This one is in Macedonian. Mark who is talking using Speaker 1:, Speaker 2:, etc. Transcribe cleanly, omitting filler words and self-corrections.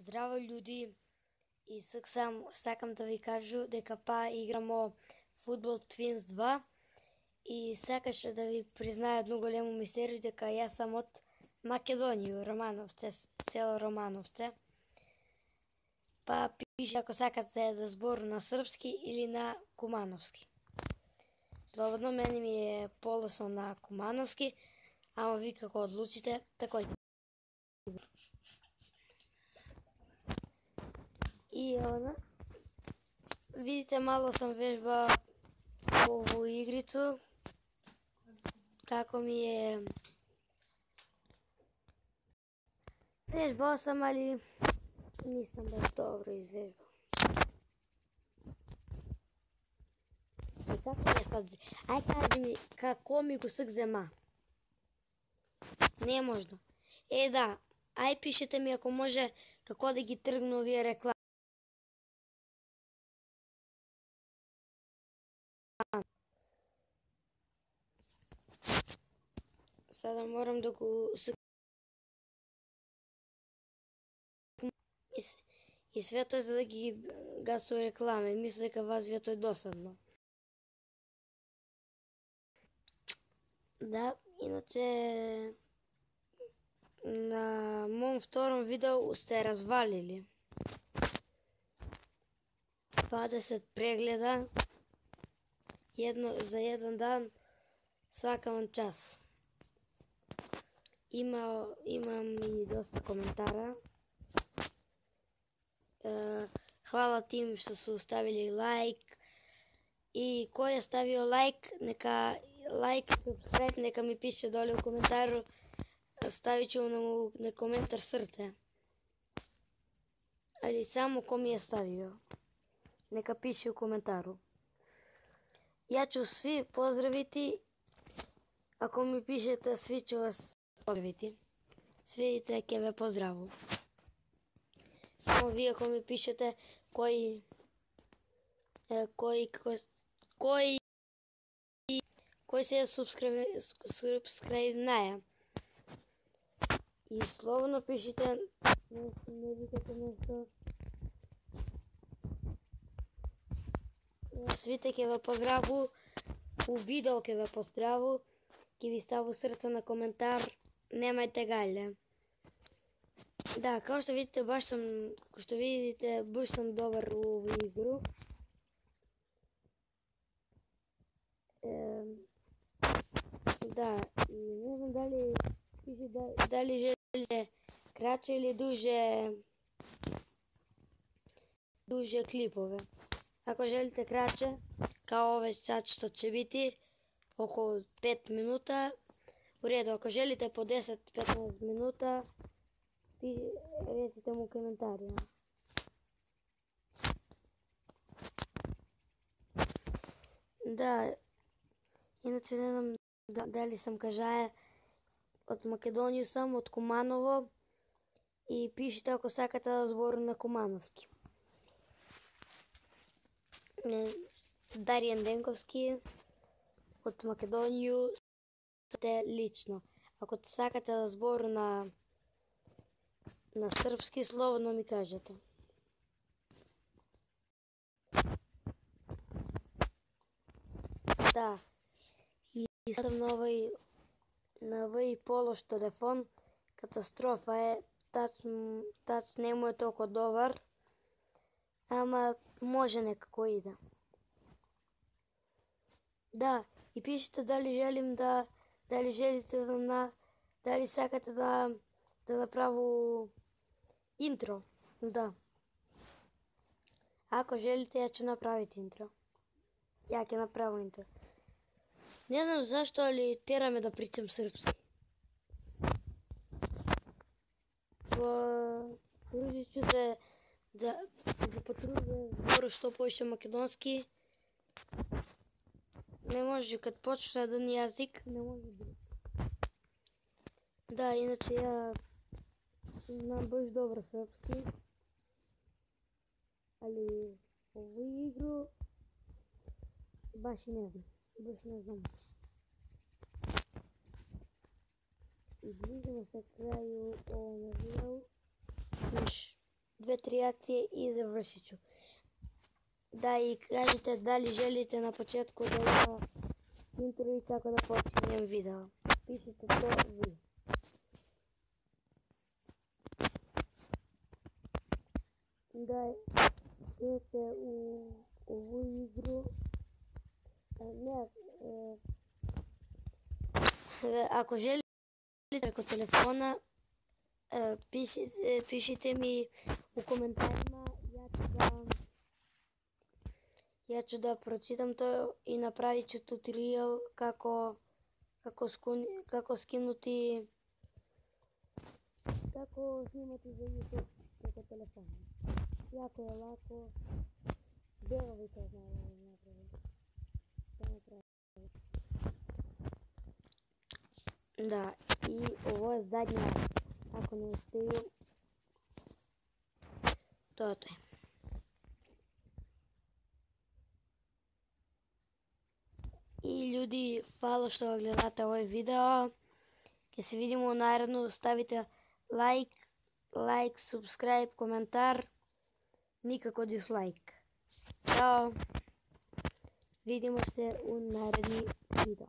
Speaker 1: Здраво људи, и сакам да ви кажу дека играмо Фудбал Твинс 2 и сакаше да ви признаја едно големо мистерио дека јас сам од Македонија, Романовце, село Романовце. Пише ако сакате да збору на српски или на кумановски. Слободно, мене ми е полесно на кумановски, ама ви како одлучите, такој. И видите, мало сам вежба ову игрицу, како ми е... Вежбао сам, али нисам баш добро извежбал. И како е стад? Ај кажи ми, како ми го зема? Не можно. Да, ај пишете ми ако може како да ги тргну овие реклами. Сада морам да го... И све тоа за да ги гасу реклами. Мислам дека вас ви тоа е досадно. Да, иначе на мојом втором видео сте развалили 20 прегледа за еден дан свакан час. Имам и доста коментара. Хвала тим што се оставили лайк. И кој е ставио лайк, нека subscribe, нека ми пише доле у коментару, ставit ću на коментар срце. Али само кој ми е ставио, нека пише у коментару. Ја ću сви поздравити, ако ми пишете, сви ću вас поздравити. Свидите, ќе ве поздраву. Само вие ако ми пишете кој се субскрайбнаја. И слободно пишите, не викате нешто. Свите ќе ве поздраву, у видео ќе ве поздраву, ќе ви ставу срце на коментар, немајте гаље. Да, како што видите, баш сам добар у ову игру. Да, и не знам дали желите краće или дуже клипове. Ако желите краće, као овој сад што ќе бити, околу 5 минута, у реду. Ако желите по 10-15 минута, реците му у коментари. Да, иначе не знам дали сам кажаја, од Македонија сам, од Куманово, и пишете ако сакате да збору на кумановски. Даријан Денковски, од Македонија, лично. Ако сакате да збору на српски, слободно ми кажете. Да, и сатам на овој полош телефон, катастрофа е, тач не му е толку добар, ама може некако иде. Да, и пишете дали сакате да направу интро. Да. Ако желите, ја ќе направите интро. Ја ќе направам интро. Не знам зашто, али тераме да причам српски. Потрудit ću се да збору што поише македонски. Не може, кад почне еден јазик, не може друг. Да, иначе ја знам баш добро српски. Али овој игру баш и не знам. И ближимо се крају овој видео. 2-3 акции и завршичу. Да, и кажете дали желите на почетку да има интро и како да починем видео. Пишете то ви. Да, идете у ову игру. Ако желите преку телефона, пишите ми у коментарима, ја ќе да прочитам тоа и направиću туторијал како скинути, како снимати за YouTube преку телефона. Јако е лако, деловите знае да направи. Да, и ово е задња, ако не успеju, тоа е. И људи, фала што го гледате овој видео. Ке се видиме наредно, ставите лайк, субскрайб, коментар, никако дислайк. Чао! Видимо се у наредни видео.